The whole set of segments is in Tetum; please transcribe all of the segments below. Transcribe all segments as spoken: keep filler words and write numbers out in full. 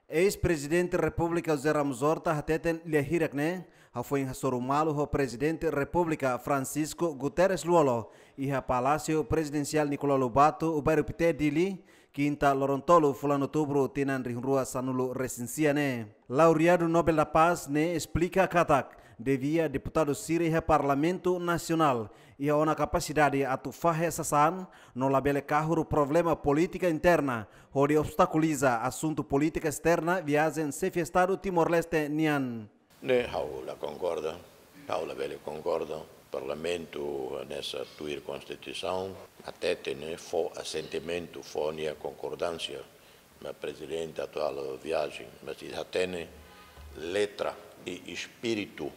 Eis-Prezidente Repúblika José Ramos Horta hateten lia hirak ne'e hafoin hasoru malu ho Prezidente Repúblika Francisco Guterres Lú-Olo iha Palásiu Prezidensiál Nicolau Lobato, Bairru Pité, Dili, kinta loron tolu fulan Outubru tinan rihun rua sanulu resin sia ne'e. Laureadu Nobel da Paz ne'e esplika katak devia deputadu sira iha Parlamentu Nasionál iha ona kapasidade atu fahe sasán no labele kahur problema polítika interna hodi obstakuliza asuntu polítika esterna viajen Xefe Estadu Timor-Leste nian. Ne'e ha'u la konkorda, ha'u labele konkorda. Parlamentu hanesan tuir Konstituisaun, hateten ne'e fó asentimentu, fó nia konkordánsia ba Prezidente atu halo viajen, mas ita hatene letra i espíritu,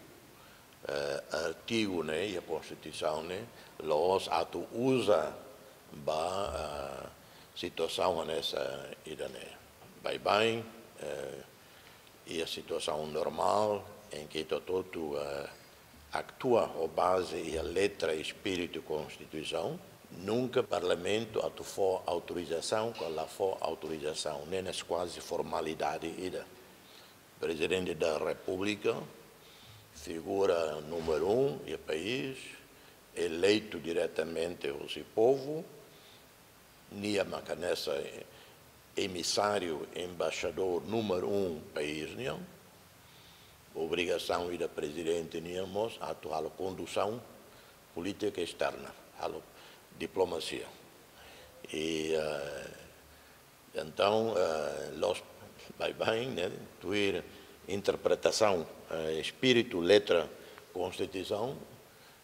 eh, artigu ne'e iha Konstituisaun ne'e la'ós atu uza ba, eh, situasaun hanesan ida-ne'e. Baibain, eh, iha situasaun normál, em que ita hotu-hotu, eh, atua ho baze iha letra i espíritu Konstituisaun, nunka Parlamentu atu fó autorizasaun ka la fó autorizasaun, ne'e hanesan kuaze formalidade ida. Prezidente da Repúblika, figura númeru um iha país, eleitu diretamente husi povu, nia mak hanesan emisáriu, embaixadór númeru um país nian. Obrigasaun ida Prezidente nian mós atu halo kondusaun polítika esterna, halo diplomasia. I, eh, entaun, eh, la'ós baibain, ne'e, tuir interpretasaun, eh, espíritu, letra Konstituisaun,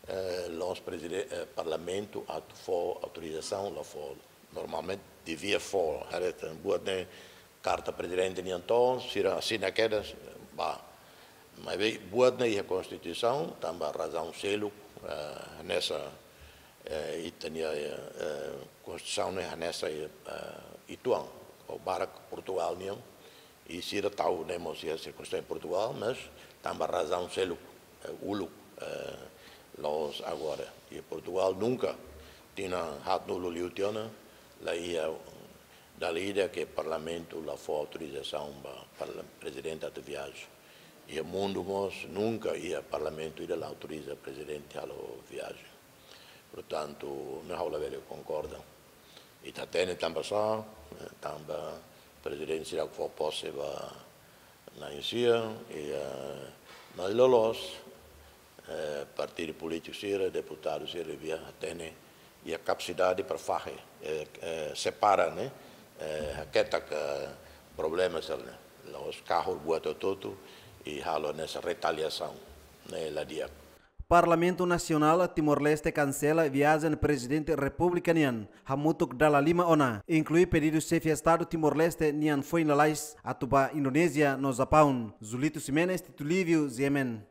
eh, la'ós prezide-, eh, Parlamentu atu fó autorizasaun, la fó, normalmente devia fó, haree tan, buat ne'e karta Prezidente nian to'o, sira asina kedas, ba. Maibé buat ne'e iha Konstituisaun, tanba razaun seluk, eh, hanesan, eh, ita-nia, eh, Konstituisaun ne'e hanesan, eh, uitoan, ou barak Portugal nian, i sira tau ne'e mós iha sirkunstánsia Portugal, mas tanba razaun seluk, eh, uluk, eh, la'ós agora. I Portugal nunka, tinan haatnulu liu tiha ona, la iha dala ida ke Parlamentu la fó autorizasaun ba parla-, Prezidente atu viajen. Iha mundu mós nunka iha Parlamentu ida la autoriza Prezidente halo viajen. Portantu, ne'e ha'u labele konkorda. Ita hatene tanba sá, eh, tanba Prezidente seidauk fó pose ba na'in-sia, i, eh, mas loloos, eh, partidu polítiku sira, deputadu sira devia hatene iha kapasidade para fahe, eh, eh, separa, ne'e, eh, haketak, eh, problema sira-ne'e. La'ós kahur buat hotu-hotu i halo hanesan retaliasaun, ne'e la di'ak. Parlamentu Nasionál Timor-Leste kansela viajen Prezidente Repúblika nian hamutuk dala lima ona, inklui pedidu Xefe Estadu Timor-Leste nian foin lalais atu ba Indonézia no Japaun. Zulito Ximenes, Tito Lívio, G M N.